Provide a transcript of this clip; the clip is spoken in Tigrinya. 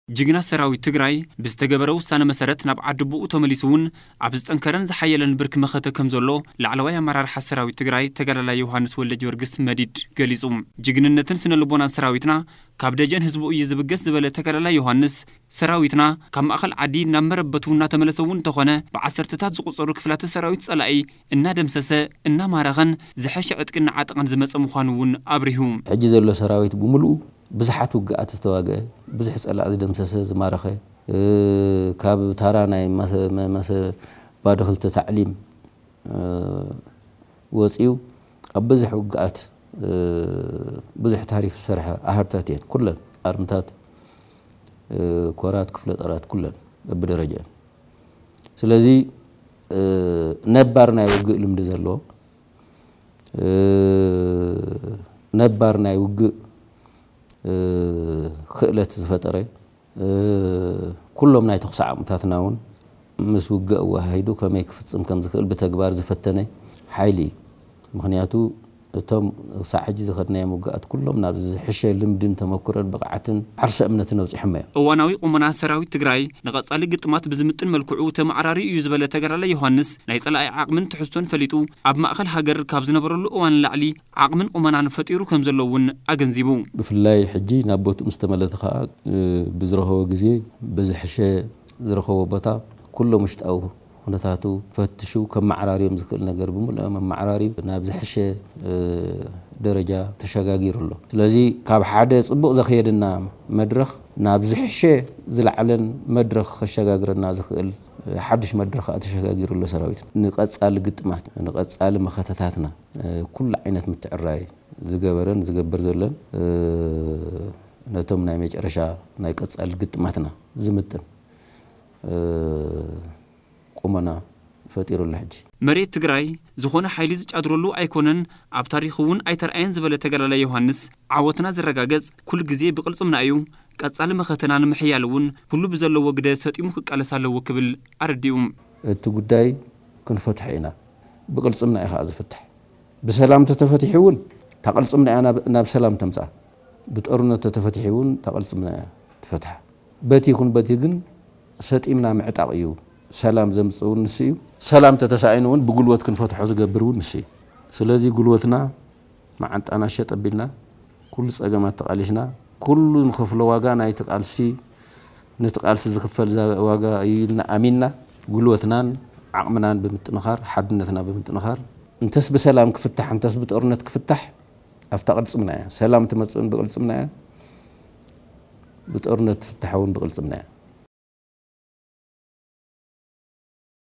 ጅግና ሰራዊት ትግራይ ብዝተገበረ ውሳነ መሰረት ናብ ዓዲ ኣቦኡ ተመሊሱ እውን ኣብ ዝጠንከረን ዝሓየለን ብርኪ መኸተ ከም ዘሎ ላዕለዋይ ኣመራርሓ ሰራዊት ትግራይ ተጋዳላይ ዮሃንስ ወልደጊዮርጊስ መዲድ ገሊጹ። ጅግንነትን ስነ ልቦናን ሰራዊትና ካብ ደጀን ህዝቡ እዩ ዝብገስ ዝበለ ተጋዳላይ ዮሃንስ፣ ሰራዊትና ካብ ማእኸል ዓዲ ናብ መረበቱ እናተመለሰ እውን እንተኾነ፣ ብዓሰርተታት ዝቑጸሩ ክፍላተ ሰራዊት ጸላኢ እናደምሰሰ፣ እናማረኸን ዝሐሸ ዕጥቂ እናዓጠቐን ዝመጸ ምዃኑ እውን ኣብሪሁ። ሕጂ ዘሎ ሰራዊት ብምሉኡ ብዙሓት ውግኣት ዝተዋግአ፣ ብዙሕ ጸላኢ ዝደምሰሰ፣ ዝማረኸ፣ እ፣ ካብ ታራ ናይ ማሰ-፣ መ-፣ ማሰ-፣ ባዶ ክልተ ታዕሊም፣ እ፣ ወጺኡ ኣብ ብዙሕ ውግኣት፣ እ፣ ብዙሕ ታሪኽ ዝሰርሐ ኣሃዱታት እየን። ኩለን ኣርምታት፣ እ፣ ኮራት፣ ክፍለ ጦራት ኩለን በብደረጃ። ስለዚ፣ እ፣ ነባር ናይ ውግእ ልምዲ ዘለዎ፣ እ፣ ነባር ናይ ውግእ፣ እ፣ ክእለት ዝፈጠረ፣ እ፣ ኩሎም ናይ ተኹሲ ዓቕምታትና እውን ምስ ውግእ ኣወሃሂዱ ከመይ ክፍጽም ከም ዝኽእል ብተግባር ዝፈተነ ሓይሊ እዩ። ምኽንያቱ እቶም ክሳዕ ሕጂ ዝኸድናዮም ውግኣት ኩሎም ናብ ዝሕሸ ልምድን ተመኩሮን ብቕዓትን ዓርሰ እምነትን ኣብጺሖሞ እዮም። እዋናዊ ቁመና ሰራዊት ትግራይ ንቐጻሊ ግጥማት ብዝምጥን መልክዑ ተመዓራርዩ እዩ ዝበለ ተጋዳላይ ዮሃንስ፣ ናይ ጸላኢ ዓቕምን ትሕዝቶን ፈሊጡ ኣብ ማእከል ሃገር ካብ ዝነበረሉ እዋን ንላዕሊ ዓቕምን ቁመናን ፈጢሩ ከም ዘሎ እውን ኣገንዚቡ። ብፍላይ ሕጂ ናብ ቦትኡ ምስ ተመለሰ ከኣ፣ እ፣ ብዝረኸቦ ግዜ፣ ብዝሕሸ ዝረኸቦ ቦታ፣ ኩሎም ውሽጣዊ ኩነታቱ ፈትሹ ከመዓራርዮም ዝኽእል ነገር ብምልኦም ኣመዓራርዩ ናብ ዝሕሸ፣ እ፣ ደረጃ ተሸጋጊሩ ኣሎ። ስለዚ ካብ ሓደ ጽቡቕ ዘኽየደና መድረኽ ናብ ዝሕሸ ዝለዓለን መድረኽ ከሸጋግረና ዝኽእል፣ እ፣ ሓድሽ መድረኽ ከኣ ተሸጋጊሩ ኣሎ ሰራዊት። ንቐጻሊ ግጥማት፣ ንቐጻሊ መኸተታትና፣ እ፣ ኩሉ ዓይነት ምትዕራይ ዝገበረን ዝገብር ዘለን፣ እ፣ ነቶም ናይ መጨረሻ ናይ ቀጻሊ ግጥማትና ዝምጥን፣ እ፣ ቁመና ፈጢሩ ኣሎ። ሕጂ መሬት ትግራይ ዝኾነ ሓይሊ ዝጫድረሉ ኣይኮነን፣ ኣብ ታሪኽ እውን ኣይተረኣየን ዝበለ ተጋዳላይ ዮሃንስ፣ ዓወትና ዝረጋገጽ ኩሉ ግዜ ብቕልጽምና እዩ። ቀጻሊ መኸተና ንምሕያል እውን ኩሉ ብዘለዎ ግደ ሰጢሙ ክቃለስ ኣለዎ ክብል ኣረዲኡ። እቲ ጉዳይ ክንፈትሖ ኢና። ብቕልጽምና እዩ ከኣ ዝፍታሕ። ብሰላም ተተፈቲሑ እውን እታ ቅልጽምና እያ ናብ፣ ናብ ሰላም ተምጽኣ። ብጦርነት ተተፈቲሑ እውን እታ ቅልጽምና እያ ትፈትሓ። በቲ ይኹን በቲ ግን ሰጢምና ምዕጣቕ እዩ። ሰላም ዘምጽእ እውን ንሱ እዩ። ሰላም ተተሳኢኑ እውን ብጉልበት ክንፈትሖ ዝገብር እውን ንሱ እዩ። ስለዚ ጉልበትና መዓንጣና ሸጥ ኣቢልና፣ ኩሉ ጸገማት ተቓሊስና፣ ኩሉ ንኸፍሎ ዋጋ ናይቲ ቃልሲ፣ ነቲ ቃልሲ ዝኽፈል ዛ-፣ ዋጋ እዩ ኢልና ኣሚንና፣ ጉልበትናን ዓቕምናን ብምጥንኻር፣ ሓድነትና ብምጥንኻር፣ እንተስ ብሰላም ክፍታሕ፣ እንተስ ብጦርነት ክፍታሕ፣ ኣብታ ቅልጽምና እያ። ሰላም ትመጽእን ብቅልጽምና እያ፣ ብጦርነት ትፍታሕ እውን ብቅልጽምና እያ።